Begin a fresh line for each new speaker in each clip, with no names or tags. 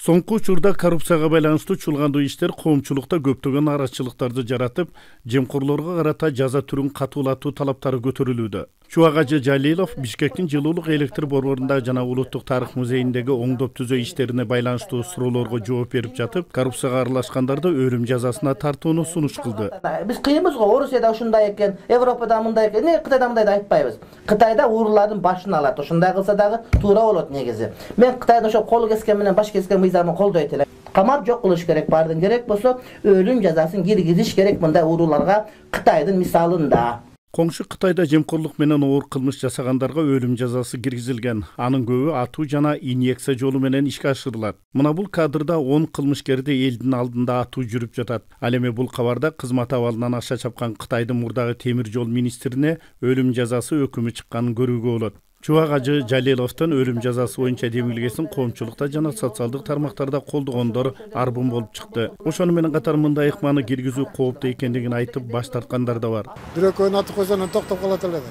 Соңку учурда коррупцияга байланыштуу чуулгандуу иштер коомчулукта көптөгөн арачылыктарды жаратып, жемкорлорго карата жаза түрүн катуулатуу талаптары көтөрүлүүдө. Чубак ажы Жалилов Бишкектин жылуулук электр борборунда жана Улуттук тарых музейиндеги оңдоп түзөө иштерине байланыштуу суроолорго жооп берип жатып, коррупцияга аралашкандарды өлүм жазасына тартууну сунуш кылды.
Биз кыйынбыз го, Орусияда ушундай экен, Европада мындай экен, Кытайда мындай деп айтпайбыз. Кытайда уурулардын башын алат, ушундай кылса дагы туура болот негизи. Мен Кытайдын ошо кол кескен менен баш кескен мыйзамын колдойт элем. Камап жок кылыш керек, бардын керек болсо өлүм жазасын киргизиш керек мындай ууруларга Кытайдын мисалында.
Коңшу Кытайда жемкорлук менен оор кылмыш жасагандарга өлүм жазасы киргизилген. Анын көбү атуу жана инъекция жолу менен ишке ашырылат. Мына бул кадрда 10 кылмышкерди элдин алдында атуу жүрүп жатат. Ал эми бул кабарда кызмат абалынан акча чапкан Кытайдын мурдагы темир жол министрине өлүм жазасы өкүмү чыкканын көрүүгө болот. Чубак ажы Жалиловдун өлүм жазасы боюнча демилгесин коомчулукта жана социалдык тармактарда колдогондор арбын болуп чыкты. Ошону менен катар мындай ыкманы киргизүү кооптуу экендигин айтып баш тарткандар да бар.
Бирөкөөнү атып койсоң токтоп калат эле да.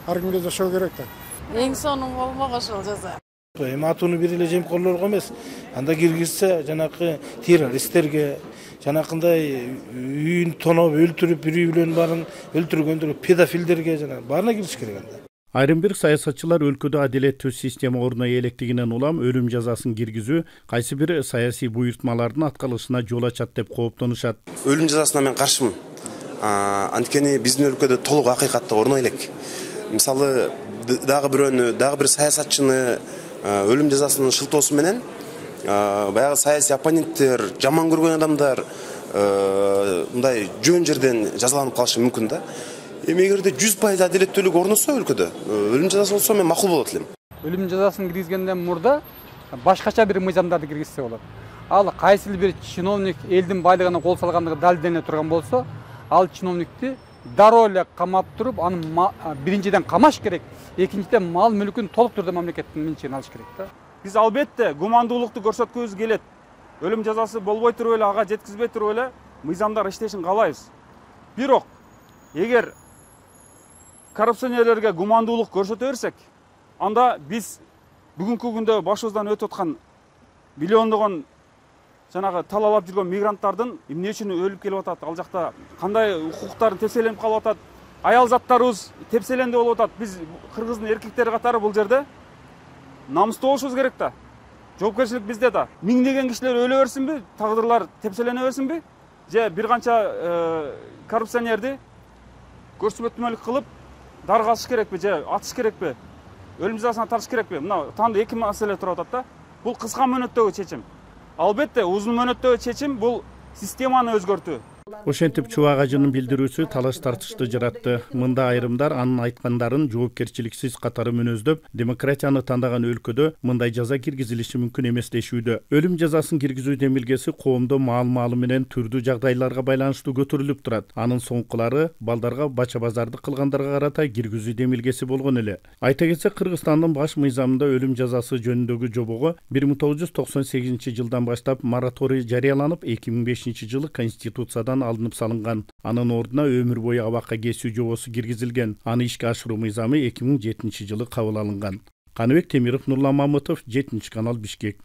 Ар кимге жашоо керек да.
Эң сонун болмок ошол жаза.
Эми атууну бир эле жемкорлорго эмес, анда киргизсе жанакы террористтерге, жанакындай үйүн тоноп өлтүрүп, үй бүлөнүн баарын өлтүргөндөр, педофилдерге жана баарына кириш керек анда.
Айрым бир саясатчылар өлкөдө адилеттүү система орноо электигинен улам өлүм жазасын киргизүү кайсы бир саясий буйртмалардын аткарылышына жол ачат деп кооптонушат.
Өлүм жазасына мен каршымын. Анткени биздин өлкөдө толук акыйкатты орной элек. Мисалы дагы бир саясатчыны өлүм жазасынын шылтоосу менен баягы саясий оппоненттер, жаман көргөн адамдар мындай жөн жерден жазаланып калышы мүмкүн да. Эми эгерде 100% адилеттүүлүк орносо өлкөдө өлүм жазасы болсо мен макул болот элем.
Өлүм жазасын киргизгенден мурда башкача бир мыйзамдарды киргизсе болот. Ал кайсы бир чиновник элдин байлыгына кол салгандыгы далилдене турган болсо, ал чиновникти дароо эле камап туруп, аны биринчиден камаш керек, экинчиден мал мүлкүн толук түрдө мамлекеттин менчигине алыш керек да.
Биз албетте гумандуулукту көрсөткүбүз келет. Өлүм жазасы болбой туруп эле, ага жеткизбей туруп эле мыйзамдар иштешин каалайбыз. Бирок эгер коррупционерлерге гумандуулук көрсөтө берсек, анда биз бүгүнкү күндө башыбыздан өтүп аткан миллиондогон жанагы талалап жүргөн мигранттардын эмне үчүн өлүп келип атат, ал жакта кандай укуктарын тепселенип калып атат, аял заттарыбыз тепселенди болуп атат. Биз кыргыздын эркектери катары бул жерде намыстуу болушубуз керек да. Жоопкерчилик бизде да. Миңдеген кишилер өлө берсинби, тагдырлар тепселене берсинби, же бир канча коррупционерди көрсөтмөлүк кылып даргасыш керекпи же атыш керекпи, өлүм жазасына тартыш керекпи? Мына танда эки маселе туруп атат да. Бул кыска мөөнөттөгү чечим. Албетте узун мөөнөттөгү чечим бул системаны өзгөртүү.
Ошентип Чубак ажынын билдирүүсү талаш тартышты жаратты. Мында айрымдар анын айткандарын жоопкерчиликсиз катары мүнөздөп, демократияны тандаган өлкөдө мындай жаза киргизилиши мүмкүн эмес дешүүдө. Өлүм жазасын киргизүү демилгеси коомдо маал-маалы менен түрдүү жагдайларга байланыштуу көтөрүлүп турат. Анын соңкулары балдарга бача базарды кылгандарга карата киргизүү демилгеси болгон эле. Айта кетсек, Кыргызстандын баш мыйзамында өлүм жазасы жөнүндөгү жобого 1998-жылдан баштап мораторий жарыяланып, 2005 жылы Конституциядан алынып салынган. Анын ордуна өмүр бою абакка кесүү жобосу киргизилген. Аны ишке ашыруу мыйзамы 2007 жылы кабыл алынган. Каныбек Темиров, Нурлан Мамытов, 7 канал, Бишкек.